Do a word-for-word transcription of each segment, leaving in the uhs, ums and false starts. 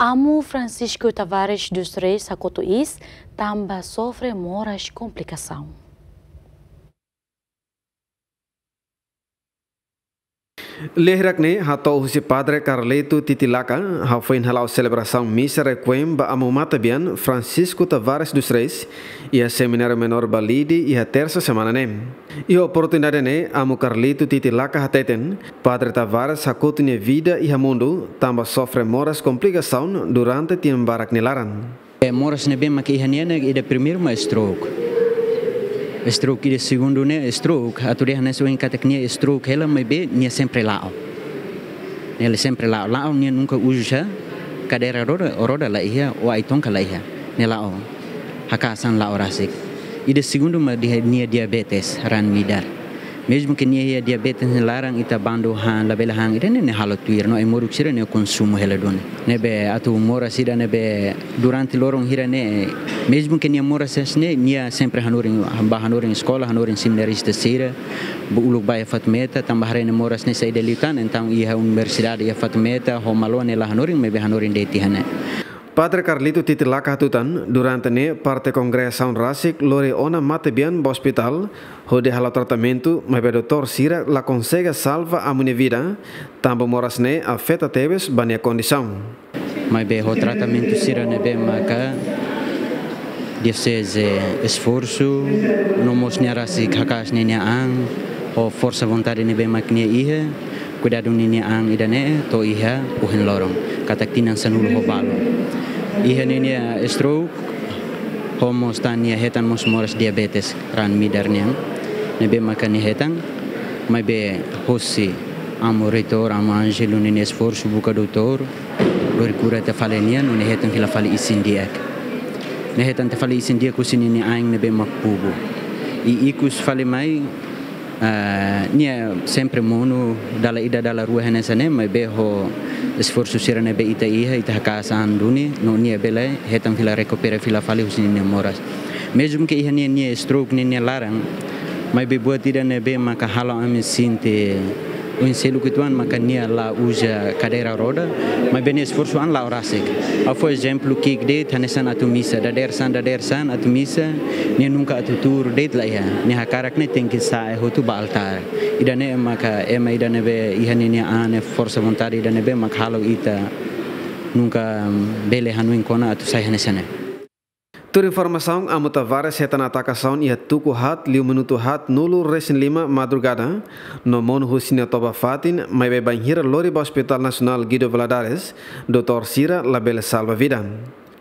Amu Francisco Tavares dos Reis hakotu iis tanba sofre moras komplikasaun. Lia hirak-ne'e hato'o husi Padre Carlito Titilaka, hafoin hala'o selebrasaun misa requiem ba Amu Matebian Francisco Tavares dos Reis, iha Semináriu Menór Balide, iha tersa semana ne'e. Iha oportunidade ne'e, Amu Carlito Titilaka hateten, Padre Tavares hakotu nia vida iha mundu, tanba sofre moras komplikasaun durante tinan barak nia laran. Eh, moras ne'ebé maka iha nia ne'e, ida primeiru mak stroke. Stroke, ida segundu ne'e stroke, atu dehan hanesan ohin katak nia stroke hela maibé nia sempre la'o. Nia sempre la'o, la'o nia nunka uza kadeira roda, roda la iha, ou ai-tonka la iha. Nia la'o. Hakas an la'o rasik. Ida segundu mak nia diabetes raan-midar. Mezmu ke nia iha diabetes nia laran ita bandu han, labele han, ida-ne'e nia halo tuir no ai-moruk sira nia konsumu hela duni. Ne'ebé atu moras ida ne'ebé durante loron hira-ne'e, mezmu ke nia moras hanesan ne'e, nia sempre hanorin, bá hanorin eskola, hanorin seminarista sira, bá uluk bá iha Fatumeta, tanba haree nia moras ne'e saida liután, entaun iha universidade iha Fatumeta, ho malu nia la hanorin, maibé hanorin de'it iha ne'e. Padre Carlito Titilaka hatutan, durante ne'e parte kongregasaun rasik lori ona matebian ba ospitál, hodi halo tratamentu, maibé doutór sira la konsege salva Amu nia vida, tanba moras ne'e afeta tebes ba nia kondisaun. Maibé ho tratamentu sira ne'ebé maka dioseze esforsu, no mós nia rasik hakas ninia an, ho forsa vontade ne'ebé mak nia iha, kuidadu ninia an ida-ne'e to'o iha ohin loron, katak tinan sanulu ho balu. Iha ninia stroke, ho mós tan nia hetan mós moras diabetes raan-midar nian. Ne'ebé maka nia hetan, maibé hosi Amu Reitór, Amu Ângelo ninia esforsu buka doutór, lori kura tiha fali nia, no nia hetan fila fali isin-di'ak. Nia hetan tiha fali isin-di'ak husi ninia ain ne'ebé mak pubu. I ikus fali mai, ah, nia sempre monu dala ida dala rua hanesan ne'e, maibé ho esforsu sira ne'ebé ita iha, ita hakas an duni, no nia bele hetan fila rekupera fila fali husi ninia moras. Mezmu ke iha nia, nia stroke ninia laran, maibé buat ida ne'ebé maka halo ami sente oin seluk uitoan maka nia la uza kadeira roda, maibé nia esforsu an la'o rasik. Ha'u fó ezemplu ki'ik de'it hanesan atu misa, dadeer-saan, dadeer-saan atu misa, nia nunka atu tuur de'it la iha. Nia hakarak ne'e tenke sa'e hotu ba altár. Ida-ne'e maka ema ida ne'ebé iha ninia an ne'e forsa vontade ida ne'ebé mak halo ita nunka, mm, bele hanoin kona atu sai hanesan ne'e. Tuir informasaun, Amu Tavares hetan atakasaun iha tuku haat liu minutu haatnulu-resin-lima madrugada, no monu husi nia toba-fatin, maibé bainhira lori ba Hospital Nasionál Guido Valadares, doutór sira labele salva vida.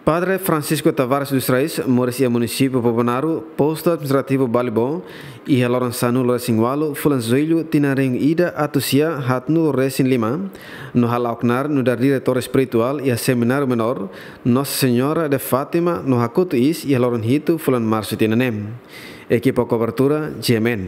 Padre Francisco Tavares dos Reis, moris iha munisípiu Bobonaro, postu administrativu Balibó, iha loron sanulu-resin-ualu, fulan Jullu, tinan rihun ida atus sia haatnulu-resin-lima, no hala'o knaar nu'udar diretór espirituál iha Semináriu Menór Nossa Senhora de Fátima no hakotu iis iha loron hitu fulan Marsu tinan ne'e. Ekipa kobertura, G M N.